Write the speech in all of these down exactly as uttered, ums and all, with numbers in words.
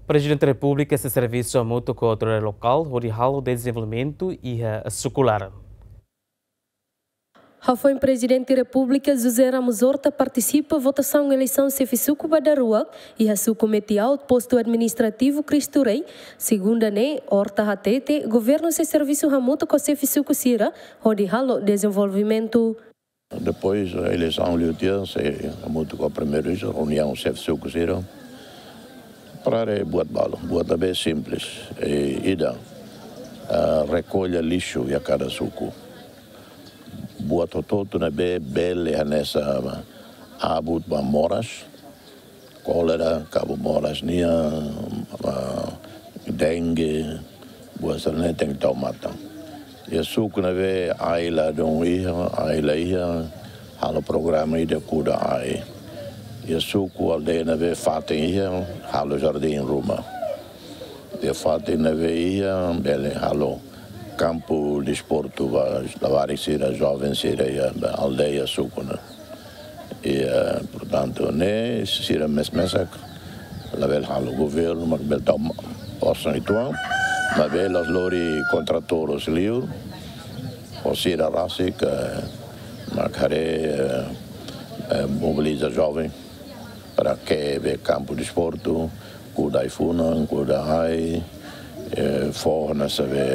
Prezidente Repúblika sei servisu hamutuk ho autoridade lokál hodi halo dezenvolvimentu iha suku laran. Hafoin Prezidente Repúblika José Ramos Horta partisipa votasaun eleisaun xefe suku ba daruak iha suku Metiaut, postu administrativu Cristo Rei, segunda ne'e, Horta hatete governu sei servisu hamutuk ho xefe suku sira hodi halo dezenvolvimentu. Depois eleisaun liu tiha, sei hamutuk ho primeiru-ministru, reuniaun xefe suku sira. Para buat balu, buat ne'ebé simples. E ida, ah, rekolla lixu iha kada suku. Buat hotu-hotu ne'ebé bele hanesan abut ba moras, kólera, kabu moras nian, ah, dengue, buat sira-ne'e tenke tau matan. Iha suku ne'ebé ai ladún iha, ai la iha, halo programa ida kuda ai. Iha suku aldeia ne'ebé fatin iha, halo jardín ruma. Iha fatin ne'ebé iha, bele halo kampu desportu ba labarik sira, joven sira iha aldeia suku ne'e. E, eh, portantu, ne'e sira mes-mesak, labele halo governu, mak bele tau ma-, osan uitoan, maibé la'ós lori kontratór husi liur, ho sira rasik, eh, mak haree, eh, eh, mobiliza joven para ke'e be kampu desportu, kuda ai-funan, kuda ai, eh, fó hanesan be,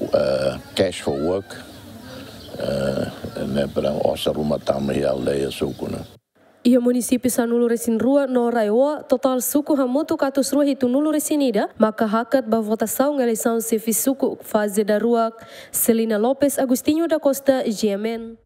eh, cash for work, eh, ne'e para osan ruma tama iha aldeia suku ne'e. Iha munisípiu sanulu-resin-rua no RAEOA, totál suku hamutuk atus rua hitunulu-resin-ida maka hakat ba votasaun eleisaun xefe suku faze daruak. Celina Lopes, Agostinho da Costa, G M N.